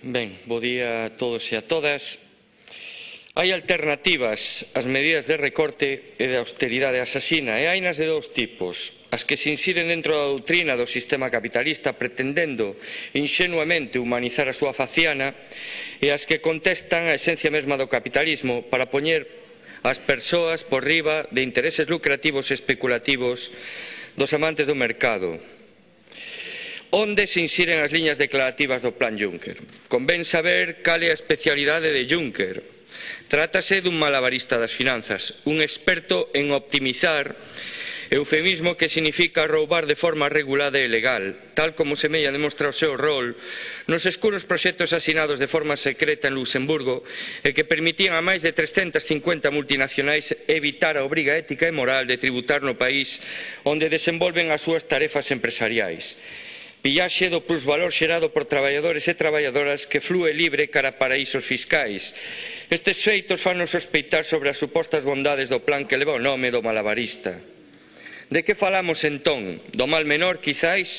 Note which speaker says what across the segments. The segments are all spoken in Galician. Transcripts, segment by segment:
Speaker 1: Ben, bo día a todos e a todas. Hai alternativas ás medidas de recorte e de austeridade asasina, e hainas de dous tipos: as que se insiren dentro da doutrina do sistema capitalista pretendendo inxenuamente humanizar a súa faciana, e as que contestan a esencia mesma do capitalismo para poñer as persoas por riba de intereses lucrativos e especulativos dos amantes do mercado. Onde se insiren as liñas declarativas do Plan Juncker? Convén saber cal é a especialidade de Juncker. Trátase dun malabarista das finanzas, un experto en optimizar, eufemismo que significa roubar de forma regulada e legal, tal como semella demostrar o seu rol nos escuros proxectos asinados de forma secreta en Luxemburgo e que permitían a máis de 350 multinacionais evitar a obriga ética e moral de tributar no país onde desenvolven as súas tarefas empresariais. Pillaxe do plusvalor xerado por traballadores e traballadoras que flúe libre cara a paraísos fiscais. Estes feitos fannos sospeitar sobre as supostas bondades do plan que leva o nome do malabarista. De que falamos entón? Do mal menor, quizáis?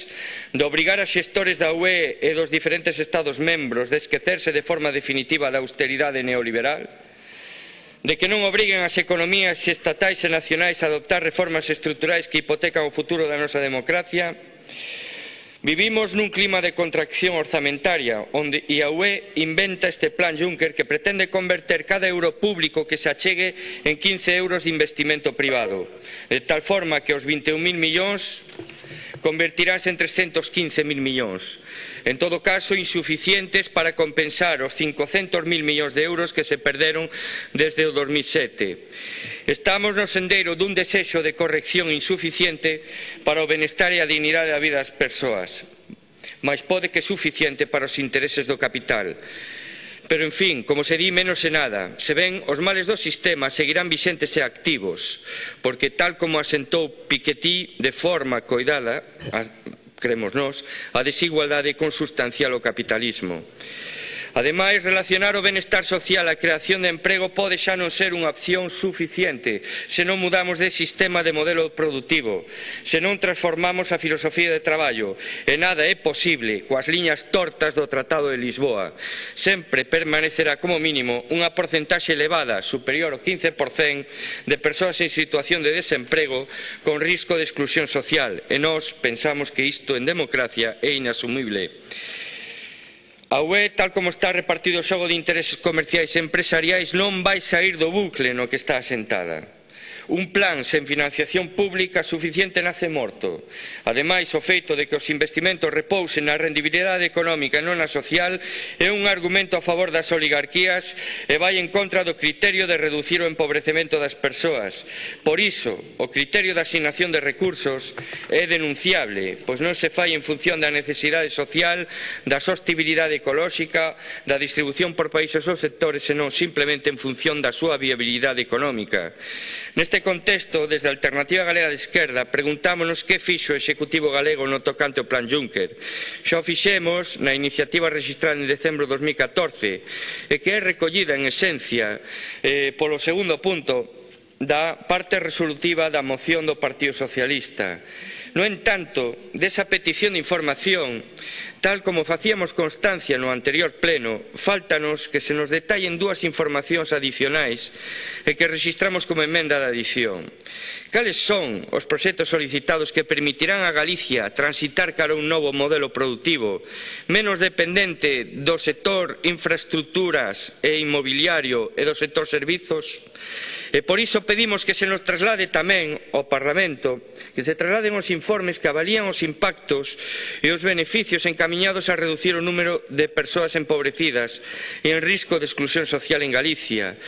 Speaker 1: De obrigar a xestores da UE e dos diferentes Estados membros de esquecerse de forma definitiva da austeridade neoliberal? De que non obriguen as economías estatais e nacionais a adoptar reformas estruturais que hipotecan o futuro da nosa democracia? Vivimos nun clima de contracción orzamentaria onde a UE inventa este plan Juncker que pretende converter cada euro público que se achegue en 15 euros de investimento privado, de tal forma que os 21.000 millóns convertiránse en 315.000 millóns. En todo caso, insuficientes para compensar os 500.000 millóns de euros que se perderon desde o 2007. Estamos no sendeiro dun desexo de corrección insuficiente para o benestar e a dignidade da vida das persoas, mais pode que suficiente para os intereses do capital. Pero, en fin, como se di, menos e nada. Se ven, os males do sistema seguirán vixentes e activos, porque tal como asentou Piketty de forma coidada, cremos nós, a desigualdade consustancial ao capitalismo. Ademais, relacionar o benestar social á creación de emprego pode xa non ser unha opción suficiente se non mudamos de sistema de modelo productivo, se non transformamos a filosofía de traballo, e nada é posible coas liñas tortas do Tratado de Lisboa. Sempre permanecerá como mínimo unha porcentaxe elevada, superior ao 15%, de persoas en situación de desemprego con risco de exclusión social, e nós pensamos que isto en democracia é inasumible. A UE, tal como está repartido o xogo de intereses comerciais e empresariais, non vai saír do bucle no que está asentada. Un plan sen financiación pública suficiente nace morto. Ademais, o feito de que os investimentos repousen na rendibilidade económica e non na social é un argumento a favor das oligarquías e vai en contra do criterio de reducir o empobrecemento das persoas. Por iso, o criterio de asignación de recursos é denunciable, pois non se fai en función da necesidade social, da sostibilidade ecolóxica, da distribución por países ou sectores, senón simplemente en función da súa viabilidade económica. Neste contexto, desde a Alternativa Galega de Esquerda, preguntámonos que fixo o Executivo galego no tocante ao Plan Juncker. Xa o fixemos na iniciativa rexistrada en decembro de 2014 e que é recollida en esencia polo segundo punto da parte resolutiva da moción do Partido Socialista. No entanto, desa petición de información, tal como facíamos constancia no anterior pleno, fáltanos que se nos detallen dúas informacións adicionais e que rexistramos como emenda de adición. Cales son os proxectos solicitados que permitirán a Galicia transitar cara a un novo modelo productivo, menos dependente do sector infraestructuras e inmobiliario e do sector servizos? E por iso pedimos que se nos traslade tamén ao Parlamento, que se trasladen os informes que avalían os impactos e os beneficios encamiñados a reducir o número de persoas empobrecidas e en risco de exclusión social en Galicia.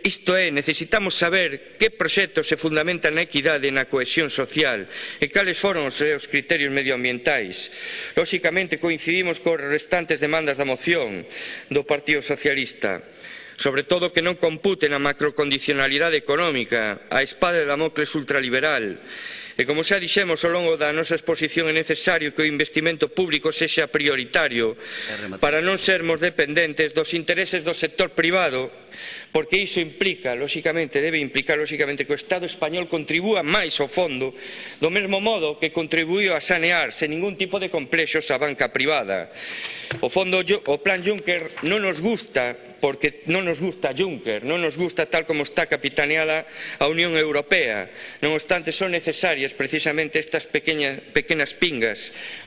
Speaker 1: Isto é, necesitamos saber que proxectos se fundamentan na equidade e na cohesión social e cales foron os seus criterios medioambientais. Lóxicamente coincidimos cos restantes demandas da moción do Partido Socialista, sobre todo que non computen a macrocondicionalidade económica, a espada de Damocles ultraliberal, E como xa dixemos ao longo da nosa exposición, é necesario que o investimento público sexa prioritario para non sermos dependentes dos intereses do sector privado, porque iso implica, lóxicamente, debe implicar lóxicamente que o Estado español contribúa máis ao fondo, do mesmo modo que contribuíu a sanear sen ningún tipo de complexos a banca privada. O plan Juncker non nos gusta porque non nos gusta Juncker, non nos gusta tal como está capitaneada a Unión Europea. Non obstante, son necesarias precisamente estas pequenas pingas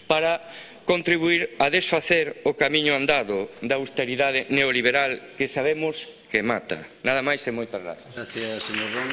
Speaker 1: para contribuir a desfacer o camiño andado da austeridade neoliberal que sabemos que mata. Nada máis e moitas grazas.
Speaker 2: Gracias, señor Ron.